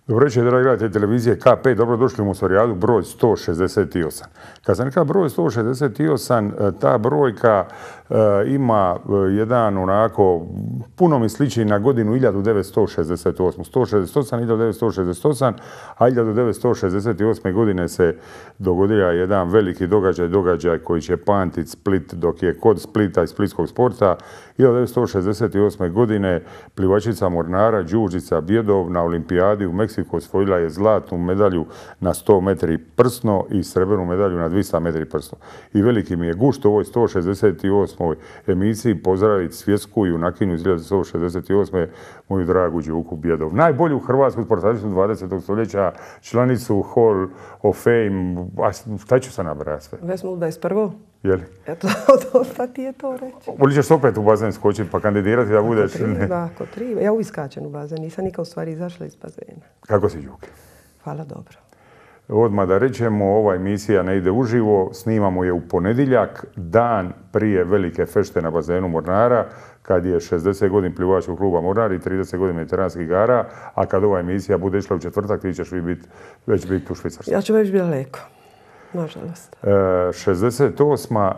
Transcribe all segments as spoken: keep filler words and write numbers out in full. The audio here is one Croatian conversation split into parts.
Dobro večer, dragi gledatelji televizije K P, dobrodošli u Mostorijadu broj sto šezdeset osam. Kad sam rekao broj sto šezdeset osam, ta brojka e, ima jedan onako, puno mi sliči na godinu hiljadu devetsto šezdeset osam. sto šezdeset osam, hiljadu devetsto šezdeset osam, a hiljadu devetsto šezdeset osme. godine se dogodio jedan veliki događaj, događaj koji će pamtiti Split dok je kod Splita i splitskog sporta. hiljadu devetsto šezdeset osme. godine plivačica Mornara Đurđica Bjedov na olimpijadi u Meksiku osvojila je zlatnu medalju na sto metri prsno i srebrnu medalju na dvista metri prsno. I veliki mi je gušt u ovoj sto šezdeset osmoj emisiji pozdraviti svjetsku junakinju iz hiljadu devetsto šezdeset osme. moju dragu Đuku Bjedov. Najbolju hrvatsku sportašicu dvadesetog stoljeća, članicu Hall of Fame. A šta ću sad nabrati sve? Već smo u dvadeset prvom. Jeli? Eto, dosta ti je to reći. Ili ćeš opet u bazen skočiti pa kandidirati da budeš... Ako triba, ako triba. Ja uvijek skačem u bazen, nisam nikad u stvari izašla iz bazena. Kako si, Đuki? Hvala, dobro. Odmah da rečemo, ova emisija ne ide uživo, snimamo je u ponedjeljak, dan prije velike fešte na bazenu Mornara, kad je šezdeset godina plivačkog kluba Mornar i trideset godina mediteranskih igara, a kad ova emisija bude išla u četvrtak, ti ćeš bit, već biti u Švicarsku. Ja ću već biti daleko, nažalost. E, šezdeset osma.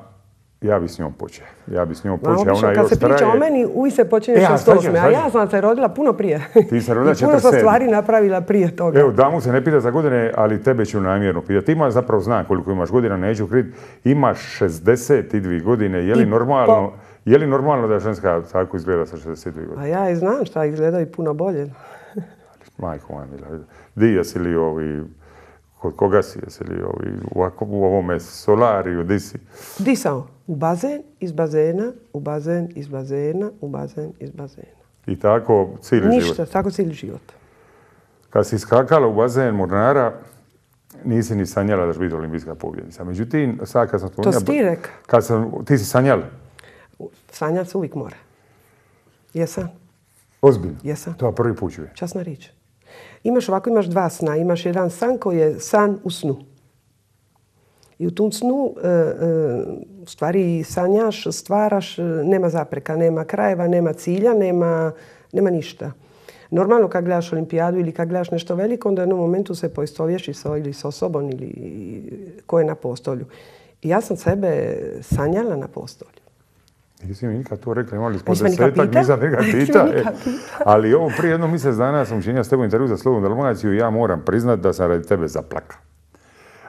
Ja bi s njom počeo. Ja bi s njom počeo. Ma, obično, kad se priča traje... o meni, uvijek se počinje e, šezdeset osme. A ja sam se rodila puno prije. Ti se rodila četrdeset sedme. I puno sam stvari napravila prije toga. Evo, damu se ne pita za godine, ali tebe ću namjerno pitati. Ima, zapravo znam koliko imaš godina, neću kriti. Imaš šezdeset dvije godine. Je li I normalno... Po... Je li normalno da ženska tako izgleda sa šezdeset dvije godine? A ja i znam šta izgleda i puno bolje. Majko moja mila. Di jesi li ovi... Kod koga si? Jesi li ovi... U ovome solariju? Di si? Di sam? U bazen, iz bazena, u bazen, iz bazena, u bazen, iz bazena. I tako cijeli život? Ništa, tako cijeli život. Kad si skakala u bazen Mornara, nisi ni sanjala da će biti olimpijska pobjednica. Međutim, sad kad sam... To si ti rekao? Kad sam... Ti si sanjala? Sanjat se uvijek mora. Jesam? Ozbiljno? Jesam. To je prvi put čuje. Časna riječ. Imaš ovako, imaš dva sna. Imaš jedan san koji je san u snu. I u tom snu e, e, u stvari sanjaš, stvaraš, nema zapreka, nema krajeva, nema cilja, nema, nema ništa. Normalno kad gledaš olimpijadu ili kad gledaš nešto veliko, onda u jednom momentu se poistovješiš sa, ili sa osobom ili ko je na postolju. I ja sam sebe sanjala na postolju. Nisi mi nikad to rekla, imali smo desetak, nisam nekad pita. E. Ali ovo prije jednog mjesec dana sam učinio s tebom intervju za Slobodnu Dalmaciju i ja moram priznat da sam radi tebe zaplakao.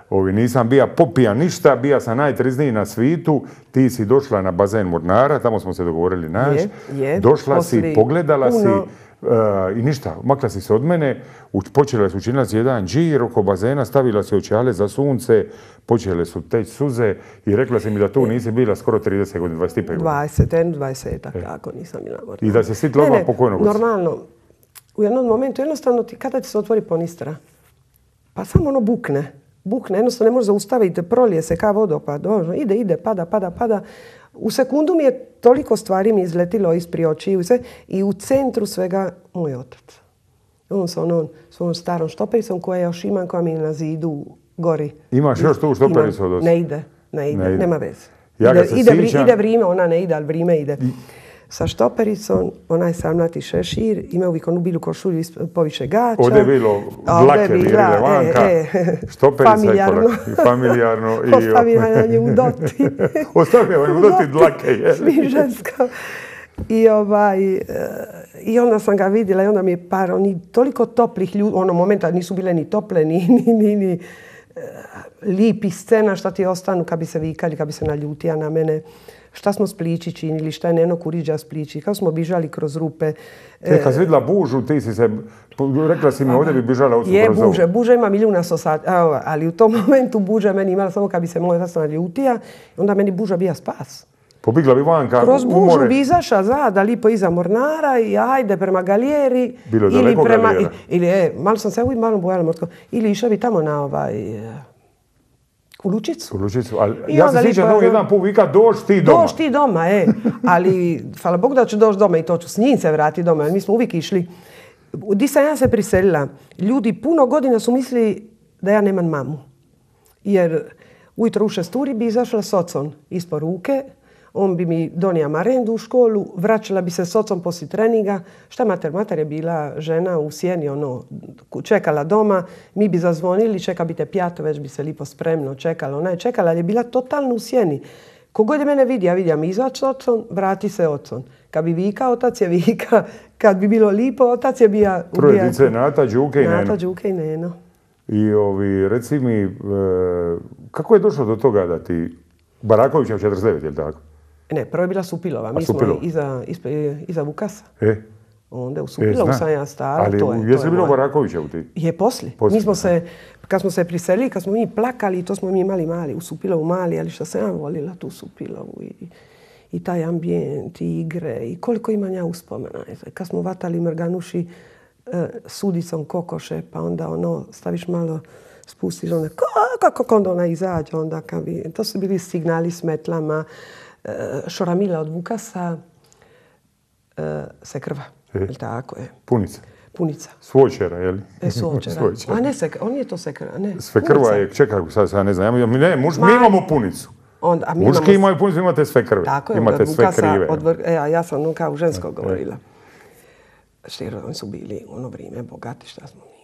Ovi, nisam bija popija ništa, bija sam najtrizniji na svitu, ti si došla na bazen Mornara, tamo smo se dogovorili naš. Je, je, došla si, pogledala puno... si uh, i ništa, makla si se od mene, počela si učinila si jedan džir oko bazena, stavila si očale za sunce, počele su teći suze i rekla si mi da tu nisi bila skoro trideset godina, dvadeset pet godina. dvadeset, dvadeset, tako nisam bila Mornara. I da se sitla odmah pokojnog. Normalno, u jednom momentu jednostavno ti, kada ti se otvori ponistra, pa samo ono bukne. Bukne, jednostavno ne može zaustaviti, prolije se kao vodopad, ide, ide, pada, pada, pada. U sekundu mi je toliko stvari mi izletilo isprije očiju i u centru svega moj otac. On sa onom svojom starom štopericom koja još imam, koja mi je na zidu gori. Imaš još tu štopericu od Ne ide, ne ide, ne ide. Nema veze. Ja ide, ide, sjećam... ide vrijeme, ona ne ide, ali vrijeme ide. I... Sa štopericom, onaj samnati šešir, ima uvijek onu bilu košulju poviše gača. Ovdje je bilo dlake virile vanka, e, e, štoperica i korak. I familijarno. Ostavila na nju doti. Ostavila na nju doti dlake, je. Svi ženska. I, ovaj, I onda sam ga vidjela i onda mi je par, oni toliko toplih ljudi, ono momenta nisu bile ni tople, ni, ni, ni, ni lipi scena šta ti ostanu kad bi se vikali, kad bi se naljutija na mene. Šta smo s plići činili, šta je Neno Kuriđa s plići, kako smo bižali kroz rupe. E, kad si vidjela bužu, ti si se, rekla si mi ovdje bi bižala od Je, buže, buža ima milijuna sosad, ali u tom momentu buža meni imala samo kad bi se moj zasna naljutija, onda meni buža bija spas. Pobigla bi vanka, kroz bužu bi izaša zada, lipo iza Mornara i ajde prema galijeri. Bilo ili daleko prema, galijera? Ili, e, malo sam se uvijek malo bojala morsko. Ili išla bi tamo na ovaj... U Lučicu. U Lučicu, ali ja se sjećam da jedan put vika dođi ti doma. Dođi ti doma, e. Ali, hvala Bogu da ću doći doma i to ću s njim se vratiti doma. Mi smo uvijek išli. Di sam ja se priselila. Ljudi puno godina su mislili da ja nemam mamu. Jer ujutro u šest uri bi izašla s ocom ispod ruke. on bi mi donio marendu u školu, vraćala bi se s ocom poslije treninga. Šta mater? Mater je bila žena u sjeni, ono, čekala doma, mi bi zazvonili, čeka bi te pjato, već bi se lipo spremno čekala. Ona je čekala, ali je bila totalno u sjeni. Kogod je mene vidi, ja vidim izaći s ocom, vrati se ocom. Kad bi vika, otac je vika. Kad bi bilo lipo, otac je bija... Troje dice, Nata, Đuke i Neno. Nata, Đuke i Neno. I ovi, reci mi, e, kako je došlo do toga da ti... Barakovića u četrdeset devet, je li tako? Ne, prvo je bila Supilova. Mi Supilova. smo iza, iza, iza Vukasa. E? Onda u Supilovu e, sam ja stara. Ali to je, jesi to je bilo moj... Barakovića u ti? Je poslije. Poslije, Mi smo se, kad smo se priselili, kad smo mi plakali, to smo mi imali mali, u Supilovu mali, ali što sam ja volila tu Supilovu i, i taj ambijent, i igre, i koliko imam ja uspomena. Kad smo vatali mrganuši e, sudicom kokoše, pa onda ono, staviš malo, spustiš onda, kako onda ona izađe, onda kad bi, to su bili signali s metlama, e, šoramila od Vukasa, e, se krva, e. je tako je. Punica. Punica. Svočera, je li? E, svočera. A ne, se, on je to sekra, ne. Svekrva je, čekaj, sad, sad ne znam, ja, ne, muž, mi imamo punicu. Onda, a mi Muški imamo... imaju punicu, imate sve krve. Tako je, imate od sve Vukasa, krive. od vr... e, a ja sam ono kao žensko govorila. Štiro, oni su bili u ono vrijeme bogati, šta smo mi.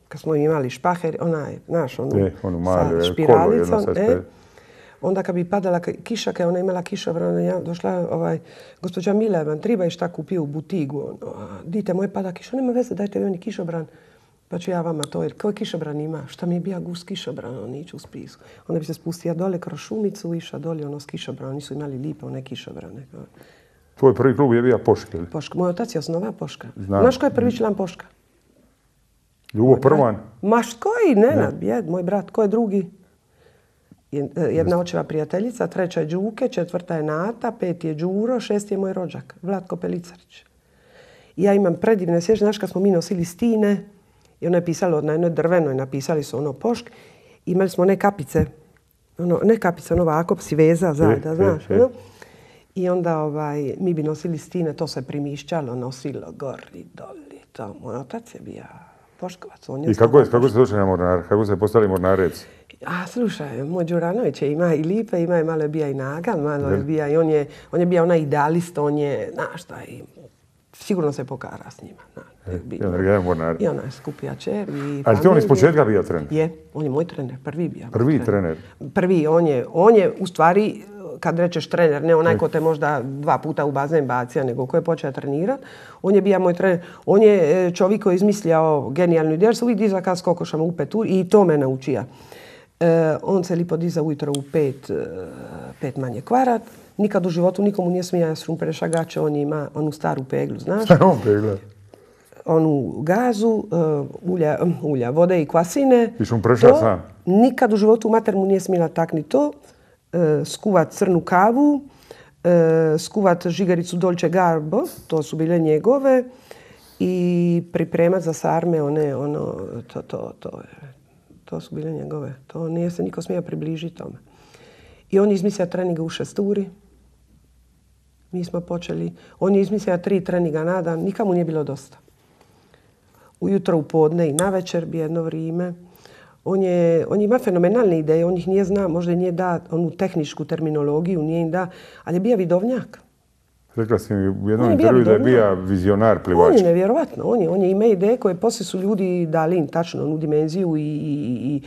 Kad smo imali špaher, onaj, znaš, onu, e, onu malu, sa špiralicom, kolo, e, onda kad bi padala kiša, kad ona imala kišobran, ja došla, ovaj, gospođa Mila, vam treba i šta kupio u butigu, ono, a, dite moje pada kiša, nema veze, dajte vi oni kišobran, pa ću ja vama to, jer koji kišobran ima, šta mi je bija gus kišobran, on ići u spisku. Onda bi se spustila dole kroz šumicu, iša dole ono s kišobran, oni su imali lipe one kišobrane. Tvoj prvi klub je bio Poška? Poška. Moj otac je osnovao Poška. Znam. Znaš ko je prvi član Poška? Ljubo Prvan? Maš, koji? Nenad, jed, moj brat. Ko je drugi? Jedna očeva prijateljica, treća je Đuke, četvrta je Nata, peti je Đuro, šesti je moj rođak, Vlatko Pelicarić. I ja imam predivne sjećanje, znaš kad smo mi nosili stine, i ono je pisalo na jednoj drvenoj, napisali su ono Pošk, imali smo one kapice, ono, ne kapice, ono ovako, si veza zada, znaš, ono. I onda ovaj, mi bi nosili stine, to se primišćalo, nosilo gori, doli, to. Moj otac je bio Poškovac. On je I kako, je, kako se došli na Mornar? Kako se postali mornareci? A slušaj, moj Đuranović je ima i lipe, ima je malo je bija i nagal, malo je bija i on je, on je bio onaj idealist, on je, znaš šta, i sigurno se pokara s njima. Na, e, I on je mornar. I ona je skupija čer. Ali ti on iz početka bio trener? Je, on je moj trener, prvi bio. Prvi trener? Prvi, on je, on je u stvari, kad rečeš trener, ne onaj ko te možda dva puta u bazen bacija, nego ko je počeo trenirati. On je bio moj trener. On je čovjek koji je izmislio genijalnu ideju, jer se uvijek diza kad s kokošama u petu i to me naučija. E, on se lipo diza ujutro u pet, pet manje kvarat. Nikad u životu nikomu nije smija šrumpere šagače, on ima onu staru peglu, znaš? Starom pegla? Onu gazu, uh, ulja, ulja, vode i kvasine. I šumpreša sam? Nikad u životu mater mu nije smjela takni to. Uh, skuvat crnu kavu, uh, skuvat žigaricu Dolce Garbo, to su bile njegove, i pripremat za sarme one, ono, to, to, to, to su bile njegove. To nije se niko smija približiti tome. I on je izmislio treninga u šesturi. Mi smo počeli. On je izmislio tri treninga na dan. Nikamu nije bilo dosta. Ujutro, u podne i navečer bi jedno vrijeme. On, je, on ima fenomenalne ideje. On ih nije zna, možda nije da onu tehničku terminologiju, nije im da, ali je bio vidovnjak. Rekla si mi u jednom intervju da je bio vizionar plivač. On je nevjerovatno. On je, on je ima ideje koje poslije su ljudi dali im tačno onu dimenziju i, i,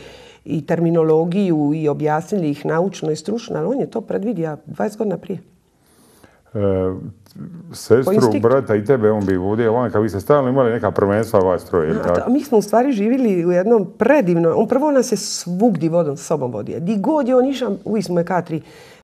i, i terminologiju i objasnili ih naučno i stručno, ali on je to predvidio dvadeset godina prije. E, sestru, brata i tebe, on bi vodio vanka, vi ste stalno imali neka prvenstva vas troje, ili tako? Mi smo u stvari živjeli u jednom predivnom, on prvo nas je svugdje vodom s sobom vodio. Di god je on išao, uvijek smo je katri